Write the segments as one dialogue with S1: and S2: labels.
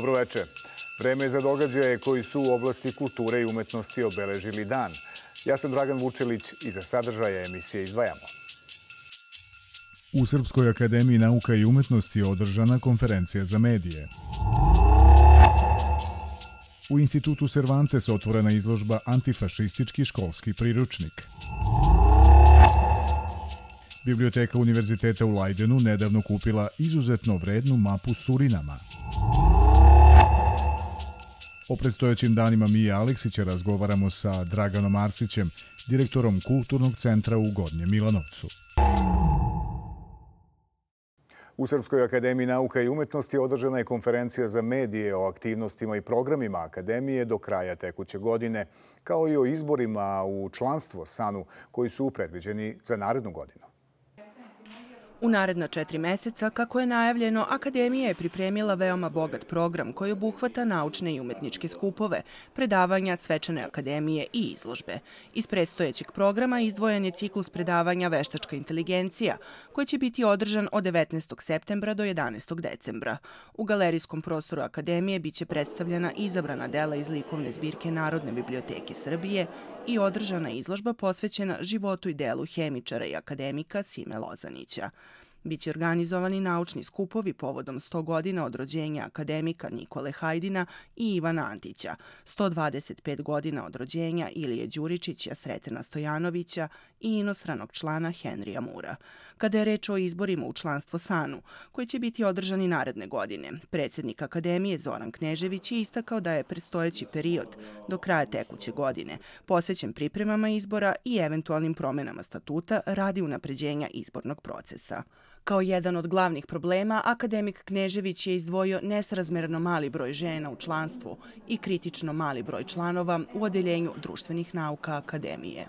S1: Dobroveče. Vreme je za događaje koji su u oblasti kulture i umetnosti obeležili dan. Ja sam Dragan Vučelić i za sadržaje emisije izdvajamo.
S2: U Srpskoj akademiji nauka i umetnosti je održana konferencija za medije. U institutu Cervantes otvorena izložba Antifašistički školski priručnik. Biblioteka Univerziteta u Leidenu nedavno kupila izuzetno vrednu mapu Surinama. O predstojećim danima Mije Aleksića razgovaramo sa Draganom Arsićem, direktorom Kulturnog centra u Gornjem Milanovcu.
S1: U Srpskoj akademiji nauka i umetnosti održana je konferencija za medije o aktivnostima i programima akademije do kraja tekuće godine, kao i o izborima u članstvo SANU koji su predviđeni za narednu godinu.
S3: U naredna 4 meseca, kako je najavljeno, Akademija je pripremila veoma bogat program koji obuhvata naučne i umetničke skupove, predavanja, svečane akademije i izložbe. Iz predstojećeg programa izdvojen je ciklus predavanja Veštačka inteligencija, koji će biti održan od 19. septembra do 11. decembra. U galerijskom prostoru Akademije biće predstavljena izabrana dela iz likovne zbirke Narodne biblioteke Srbije i održana izložba posvećena životu i delu hemičara i akademika Sime Lozanića. Biće organizovani naučni skupovi povodom 100 godina od rođenja akademika Nikole Hajdina i Ivana Antića, 125 godina od rođenja Ilije Đuričića, Sretena Stojanovića i inostranog člana Henrija Mura. Kada je reč o izborima u članstvo SANU, koji će biti održani naredne godine, predsjednik Akademije Zoran Knežević je istakao da je predstojeći period do kraja tekuće godine posvećen pripremama izbora i eventualnim promenama statuta radi unapređenja izbornog procesa. Kao jedan od glavnih problema, akademik Knežević je izdvojio nesrazmerno mali broj žena u članstvu i kritično mali broj članova u odeljenju društvenih nauka Akademije.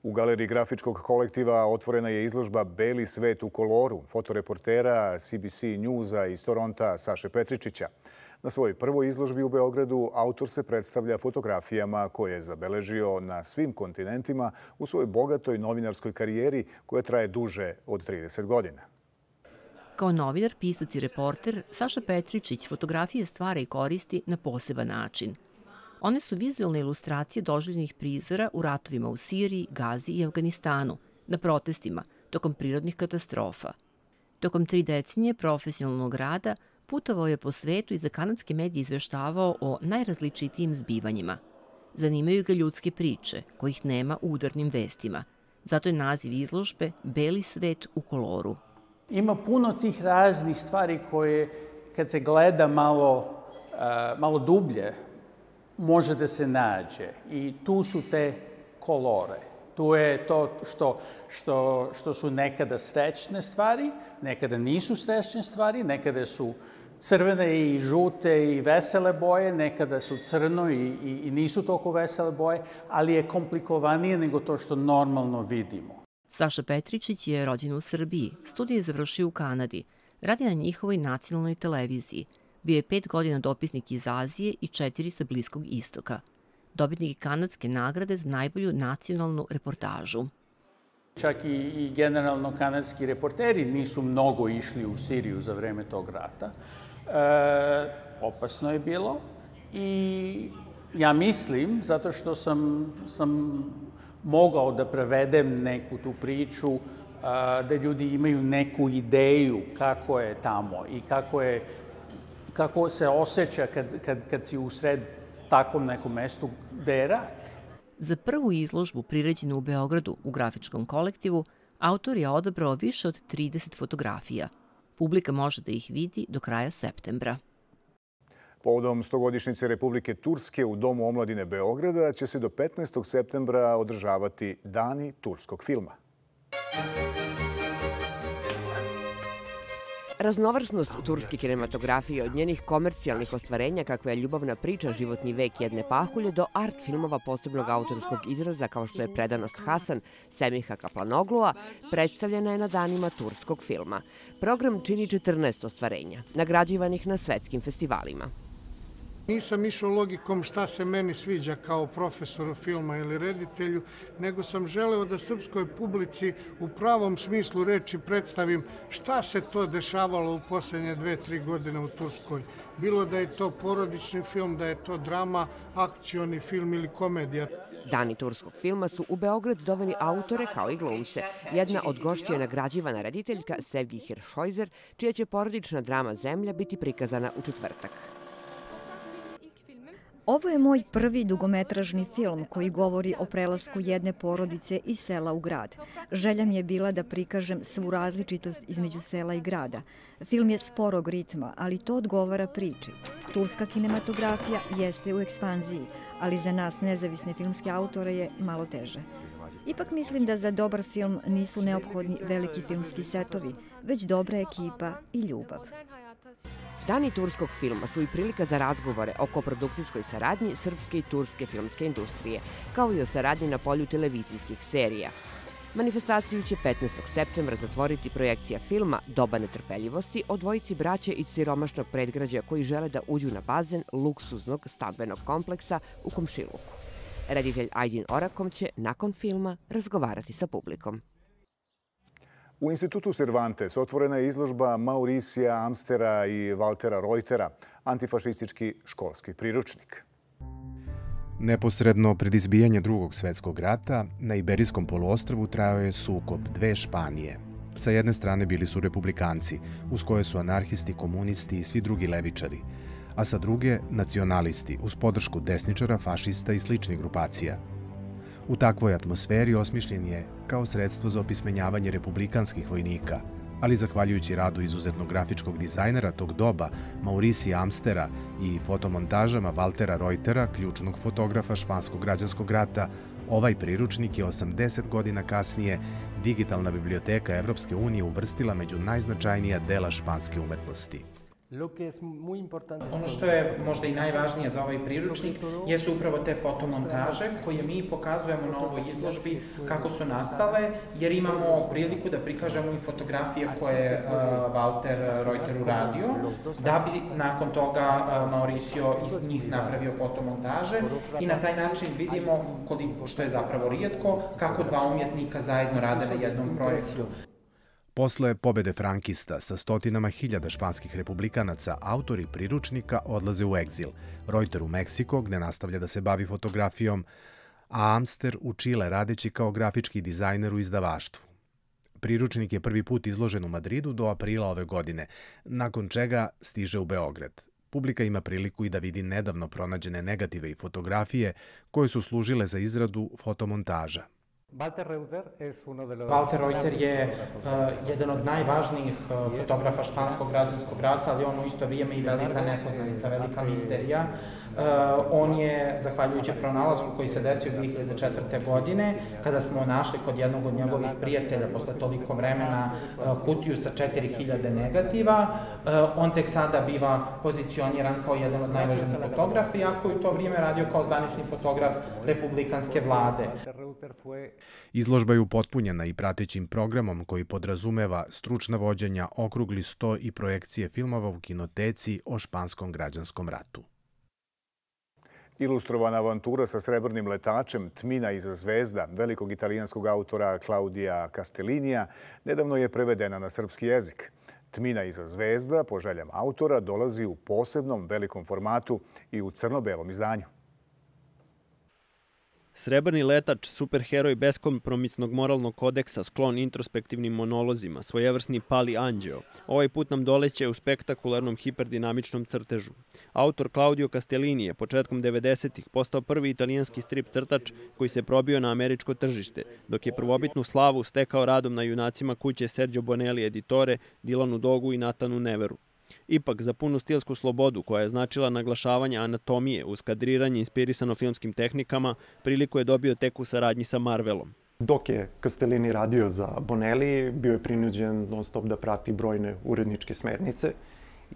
S1: U galeriji grafičkog kolektiva otvorena je izložba Beli svet u koloru fotoreportera CBC Newsa iz Toronta Saše Petričića. Na svojoj prvoj izložbi u Beogradu autor se predstavlja fotografijama koje je zabeležio na svim kontinentima u svojoj bogatoj novinarskoj karijeri koja traje duže od 30 godina.
S4: Kao novinar, pisac i reporter, Saša Petričić fotografije stvara i koristi na poseban način. One su vizualne ilustracije doživljenih prizora u ratovima u Siriji, Gazi i Afganistanu, na protestima, tokom prirodnih katastrofa. Tokom 3 decenije profesionalnog rada putovao je po svetu i za kanadske medije izveštavao o najrazličitijim zbivanjima. Zanimaju ga ljudske priče, kojih nema u udarnim vestima. Zato je naziv izložbe Beli svet u koloru.
S5: Ima puno tih raznih stvari koje, kad se gleda malo dublje, može da se nađe. I tu su te kolore. Tu je to što su nekada srećne stvari, nekada nisu srećne stvari, nekada su crvene i žute i vesele boje, nekada su crno i nisu toliko vesele boje, ali je komplikovanije nego to što normalno vidimo.
S4: Saša Petričić je rođen u Srbiji, studije je završio u Kanadi, radi na njihovoj nacionalnoj televiziji. Bio je 5 godina dopisnik iz Azije i 4 sa Bliskog istoka. Dobitnik kanadske nagrade za najbolju nacionalnu reportažu.
S5: Čak i generalno kanadski reporteri nisu mnogo išli u Siriju za vreme tog rata. Opasno je bilo i ja mislim, zato što sam mogao da prevedem neku tu priču, da ljudi imaju neku ideju kako je tamo i kako se osjeća kad si usred takvom nekom mestu gde je rat.
S4: Za prvu izložbu priređenu u Beogradu u grafičkom kolektivu, autor je odabrao više od 30 fotografija. Publika može da ih vidi do kraja septembra.
S1: Povodom 100-godišnjice Republike Turske u Domu omladine Beograda će se do 15. septembra održavati Dani turskog filma.
S6: Raznovrsnost turske kinematografije od njenih komercijalnih ostvarenja kakva je ljubavna priča Životni vek jedne pahulje do art filmova posebnog autorskog izraza kao što je Predanost Hasan Semiha Kaplanoglua predstavljena je na danima turskog filma. Program čini 14 ostvarenja, nagrađivanih na svetskim festivalima.
S7: Nisam išao logikom šta se meni sviđa kao profesoru filma ili reditelju, nego sam želeo da srpskoj publici u pravom smislu reči predstavim šta se to dešavalo u posljednje 2-3 godine u Turskoj. Bilo da je to porodični film, da je to drama, akcioni film ili komedija.
S6: Dani turskog filma su u Beograd doveli autore kao i glumce. Jedna od gošća je nagrađivana rediteljka Sevgi Hiršojzer, čija će porodična drama Zemlja biti prikazana u četvrtak.
S8: Ovo je moj prvi dugometražni film koji govori o prelasku jedne porodice iz sela u grad. Želja mi je bila da prikažem svu različitost između sela i grada. Film je sporog ritma, ali to odgovara priči. Turska kinematografija jeste u ekspanziji, ali za nas nezavisne filmske autore je malo teže. Ipak mislim da za dobar film nisu neophodni veliki filmski setovi, već dobra ekipa i ljubav.
S6: Dani turskog filma su i prilika za razgovore o koprodukcijskoj saradnji srpske i turske filmske industrije, kao i o saradnji na polju televizijskih serija. Manifestaciju će 15. septembra zatvoriti projekcija filma Doba netrpeljivosti o dvojici braće iz siromašnog predgrađa koji žele da uđu na bazen luksuznog stambenog kompleksa u komšiluku. Reditelj Ajdin Orakom će nakon filma razgovarati sa publikom.
S1: U Institutu Cervantes otvorena je izložba Mauricija Amstera i Valtera Reutera, antifašistički školski priručnik.
S9: Neposredno pred izbijanje Drugog svjetskog rata na Iberijskom poluostrvu trajao je sukob dve Španije. Sa jedne strane bili su republikanci, uz koje su anarhisti, komunisti i svi drugi levičari, a sa druge nacionalisti, uz podršku desničara, fašista i sličnih grupacija. U takvoj atmosferi osmišljen je kao sredstvo za opismenjavanje republikanskih vojnika, ali zahvaljujući radu izuzetnog grafičkog dizajnera tog doba, Mauricija Amstera i fotomontažama Valtera Reutera, ključnog fotografa španskog građanskog rata, ovaj priručnik je 80 godina kasnije digitalna biblioteka Evropske unije uvrstila među najznačajnija dela španske umetnosti.
S10: Ono što je možda i najvažnije za ovaj priručnik jesu upravo te fotomontaže koje mi pokazujemo na ovoj izložbi kako su nastale, jer imamo priliku da prikažemo i fotografije koje je Valter Reuter uradio, da bi nakon toga Mauricio iz njih napravio fotomontaže i na taj način vidimo, koliko što je zapravo rijetko, kako dva umjetnika zajedno rade na jednom projektu.
S9: Posle pobede frankista sa stotinama hiljada španskih republikanaca, autori priručnika odlaze u egzil. Reuter u Meksiko, gde nastavlja da se bavi fotografijom, a Amster u Čile radeći kao grafički dizajner u izdavaštvu. Priručnik je prvi put izložen u Madridu do aprila ove godine, nakon čega stiže u Beograd. Publika ima priliku i da vidi nedavno pronađene negative i fotografije koje su služile za izradu fotomontaža.
S10: Valter Reuter je jedan od najvažnijih fotografa španskog građanskog rata, ali on u isto vrijeme i velika nepoznanica, velika misterija. On je, zahvaljujući pronalasku koji se desio 2004. godine, kada smo našli kod jednog od njegovih prijatelja posle toliko vremena kutiju sa 4000 negativa, on tek sada biva pozicioniran kao jedan od najvažnijih fotografa, iako je u to vrijeme radio kao zvanični fotograf republikanske vlade.
S9: Izložba je upotpunjena i pratećim programom koji podrazumeva stručna vođenja, okrugli sto i projekcije filmova u kinoteci o španskom građanskom ratu.
S1: Ilustrovana avantura sa srebrnim letačem Tmina iza zvezda velikog italijanskog autora Claudia Castellinija nedavno je prevedena na srpski jezik. Tmina iza zvezda, po željama autora, dolazi u posebnom velikom formatu i u crno-belom izdanju.
S11: Srebrni letač, superheroj beskompromisnog moralnog kodeksa, sklon introspektivnim monolozima, svojevrsni pali anđeo, ovaj put nam doleće u spektakularnom hiperdinamičnom crtežu. Autor Claudio Castellini je početkom 90-ih postao prvi italijanski strip crtač koji se probio na američko tržište, dok je prvobitnu slavu stekao radom na junacima kuće Sergio Bonelli editore, Dylanu Dogu i Nathanu Neveru. Ipak, za punu stilsku slobodu, koja je značila naglašavanje anatomije uz kadriranje inspirisano filmskim tehnikama, priliku je dobio tek u saradnji sa Marvelom.
S12: Dok je Castellini radio za Bonelli, bio je prinuđen non stop da prati brojne uredničke smernice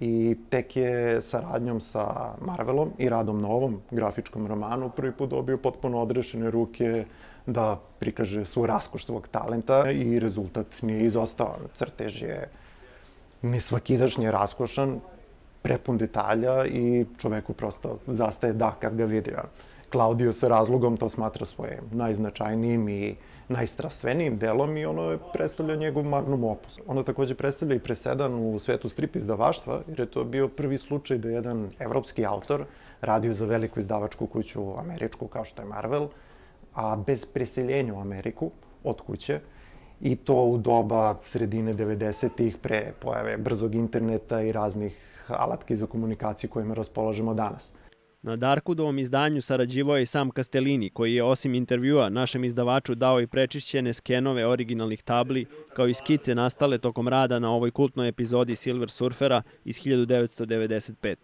S12: i tek je saradnjom sa Marvelom i radom na ovom grafičkom romanu prvi put dobio potpuno odrešene ruke da prikaže svu raskoš svog talenta i rezultat nije izostao. Crtež je nesvakidašnje raskošan, prepun detalja i čoveku prosto zastaje dah kad ga vidi. Claudio sa razlogom to smatra svojim najznačajnijim i najstrastvenijim delom i ono predstavlja njegov magnum opus. Ono takođe predstavlja i presedan u svetu strip izdavaštva, jer je to bio prvi slučaj da jedan evropski autor radio za veliku izdavačku kuću američku kao što je Marvel, a bez preseljenja u Ameriku od kuće, i to u doba sredine 90-ih pre pojave brzog interneta i raznih alatki za komunikaciju kojima raspolažemo danas.
S11: Na Darkudovom izdanju sarađivao je i sam Castellini, koji je osim intervjua našem izdavaču dao i prečišćene skenove originalnih tabli, kao i skice nastale tokom rada na ovoj kultnoj epizodi Silver Surfera iz 1995.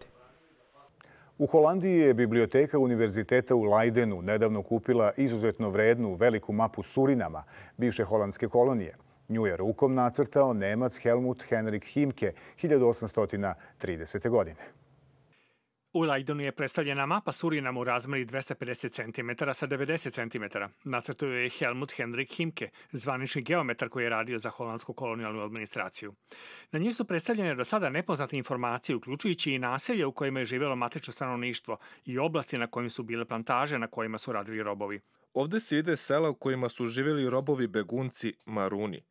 S1: U Holandiji je biblioteka Univerziteta u Leidenu nedavno kupila izuzetno vrednu veliku mapu Surinama, bivše holandske kolonije. Nju je rukom nacrtao Nemac Helmut Henrik Himke 1830. godine.
S13: U Leidenu je predstavljena mapa Surinama u razmeri 250 cm sa 90 cm. Nacrtao je Helmut Henrik Himke, zvanični geometar koji je radio za holandsku kolonijalnu administraciju. Na njoj su predstavljene do sada nepoznate informacije, uključujući i naselje u kojima je živjelo matično stanovništvo i oblasti na kojim su bile plantaže na kojima su radili robovi.
S14: Ovde se vide sela u kojima su živjeli robovi begunci Maruni.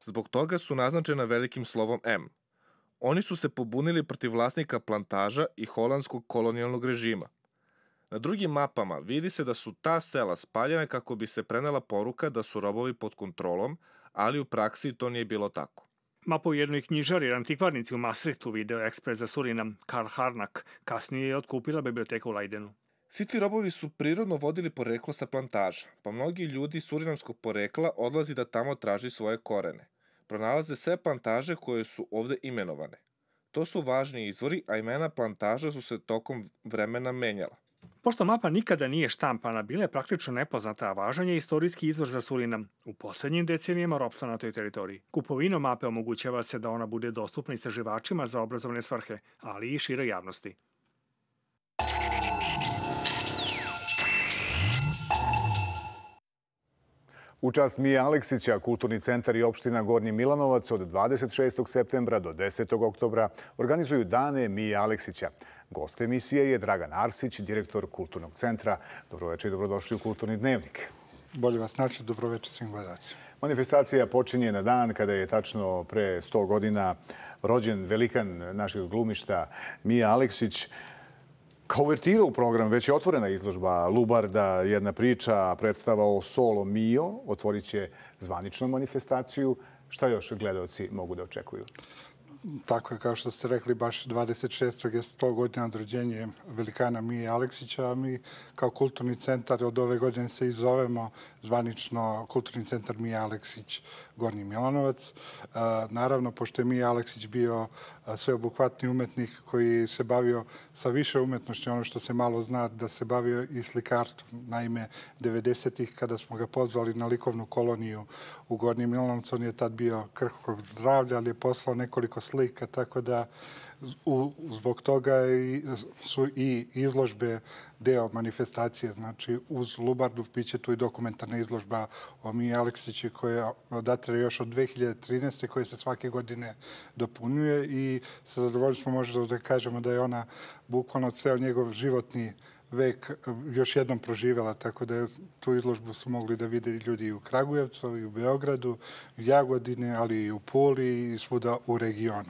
S14: Zbog toga su naznačena velikim slovom M. Oni su se pobunili protiv vlasnika plantaža i holandskog kolonijalnog režima. Na drugim mapama vidi se da su ta sela spaljene kako bi se prenela poruka da su robovi pod kontrolom, ali u praksi to nije bilo tako.
S13: Mapu jednoj knjižari jer antikvarnici u Maastrichtu video ekspres za Surinam Karl Harnack kasnije je otkupila biblioteka u Leidenu.
S14: Svi ti robovi su prirodno vodili poreklo sa plantaža, pa mnogi ljudi surinamskog porekla odlazi da tamo traži svoje korene. Pronalaze sve plantaže koje su ovde imenovane. To su važni izvori, a imena plantaža su se tokom vremena menjala.
S13: Pošto mapa nikada nije štampana, bila je praktično nepoznata, a važan je istorijski izvor za Surinam. U poslednjim decenijama ropstva na toj teritoriji. Kupovinom mape omogućava se da ona bude dostupna istraživačima za obrazovne svrhe, ali i široj javnosti.
S1: U čast Mije Aleksića, Kulturni centar i opština Gornji Milanovac od 26. septembra do 10. oktobra organizuju dane Mije Aleksića. Gost emisije je Dragan Arsić, direktor Kulturnog centra. Dobroveče i dobrodošli u Kulturni dnevnik.
S15: Bolje vas naći, dobroveče svim gledacima.
S1: Manifestacija počinje na dan kada je tačno pre 100 godina rođen velikan našeg glumišta Mija Aleksić. Kao uvertira u program već je otvorena izložba Lubarda, jedna priča, predstava o Solo Mio, otvorit će zvaničnu manifestaciju. Šta još gledaoci mogu da očekuju?
S15: Tako je, kao što ste rekli, baš 26. je 100 godina od rođenja velikana Mije Aleksića, a mi kao kulturni centar od ove godine se i zovemo zvanično Kulturni centar Mije Aleksić Gornji Milanovac. Naravno, pošto je Mije Aleksić bio sveobuhvatni umetnik koji se bavio sa više umetnošću, ono što se malo zna, da se bavio i slikarstvom. Naime, 90-ih, kada smo ga pozvali na likovnu koloniju u Gornji Milanovac, on je tad bio krhkog zdravlja, ali je poslao nekoliko slika, tako da zbog toga su i izložbe deo manifestacije. Znači, uz Lubardu biće tu i dokumentarna izložba o Miji Aleksiću koja datira još od 2013. koja se svake godine dopunjuje i sa zadovoljstvom možemo da kažemo da je ona bukvalno ceo njegov životni vek još jednom proživjela, tako da tu izložbu su mogli da vide ljudi i u Kragujevcu, i u Beogradu, u Jagodini, ali i u Puli i svuda u regionu.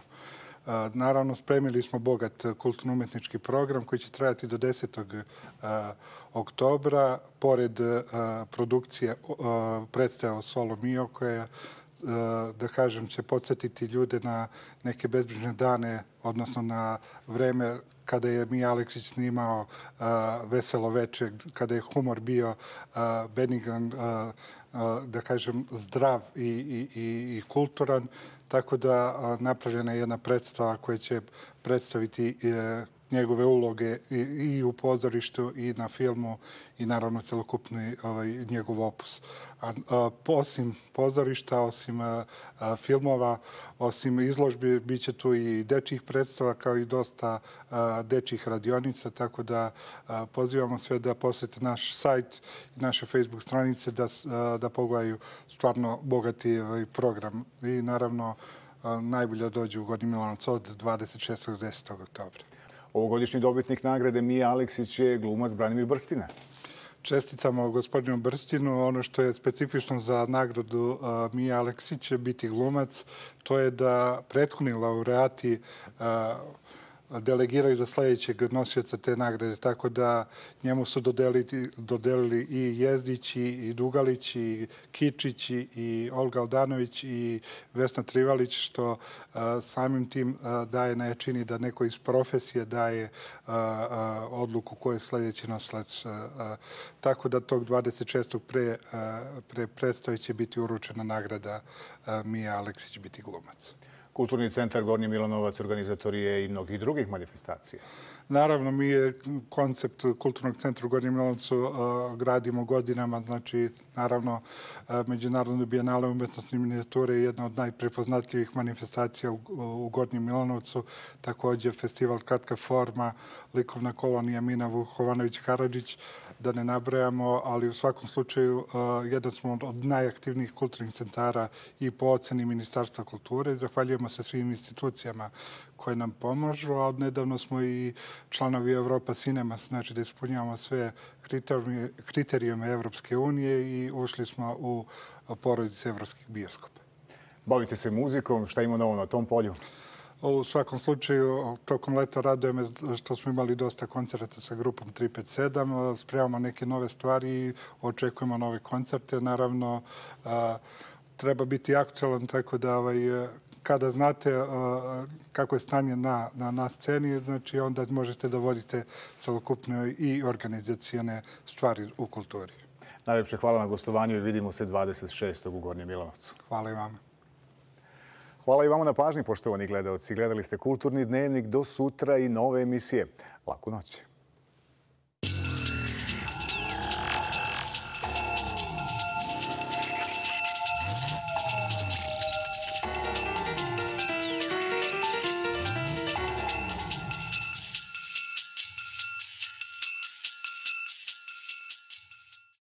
S15: Naravno, spremili smo bogat kulturno-umetnički program koji će trajati do 10. oktobra. Pored produkcije predstava Solo Mio koja, da kažem, će podsjetiti ljude na neke bezbrižne dane, odnosno na vreme kada je Mija Aleksić snimao Veselo veče, kada je humor bio benigran, da kažem, zdrav i kulturan. Tako da napravljena je jedna predstava koja će predstaviti njegove uloge i u pozorištu i na filmu i naravno celokupni njegov opus. Osim pozorišta, osim filmova, osim izložbi, bit će tu i dečjih predstava kao i dosta dečjih radionica, tako da pozivamo sve da posete naš sajt i naše Facebook stranice da pogledaju stvarno bogati program. I naravno najbolje dođe u Gornji Milanovac od 26. do 10. oktobra.
S1: Ovogodišnji dobitnik nagrade Mija Aleksić je glumac Branimir Brstina.
S15: Čestitamo gospodinu Brstinu. Ono što je specifično za nagradu Mija Aleksić je biti glumac, to je da prethodni laureati delegiraju za sledećeg nosioca te nagrade, tako da njemu su dodelili i Jezdić, i Dugalić, i Kičić, i Olga Aldanović, i Vesna Trivalić, što samim tim daje na jačini da neko iz profesije daje odluku ko je sledeći nosilac. Tako da tog 26. pre predstave će biti uručena nagrada Mija Aleksić biti glumac.
S1: Kulturni centar Gornji Milanovac organizator je i mnogih drugih manifestacija.
S15: Naravno, mi je koncept Kulturnog centra u Gornjem Milanovcu gradimo godinama. Znači, naravno, Međunarodna bijenale umetnostne minijature je jedna od najprepoznatljivih manifestacija u Gornjem Milanovcu. Također, festival Kratka forma, likovna kolonija Mina Vuhovanović-Karadžić, da ne nabrajamo, ali u svakom slučaju jedan smo od najaktivnijih kulturnih centara i po oceni Ministarstva kulture. Zahvaljujemo se svim institucijama koje nam pomažu, a odnedavno smo i članovi Europa Cinemas, znači da ispunjavamo sve kriterijume Evropske unije i ušli smo u porodice evropskih bioskopa.
S1: Bavite se muzikom, šta ima novo na tom polju?
S15: U svakom slučaju, tokom leta raduje me što smo imali dosta koncerta sa grupom 357, spremamo neke nove stvari i očekujemo nove koncerte. Naravno, treba biti aktualan, tako da kada znate kako je stanje na sceni, znači onda možete da vodite celokupne i organizacijone stvari u kulturi.
S1: Najlepše hvala na gostovanju i vidimo se 26. u Gornjem Milanovcu.
S15: Hvala i vama.
S1: Hvala i vama na pažnji, poštovani gledaoci. Gledali ste Kulturni dnevnik, do sutra i nove emisije. Laku noć.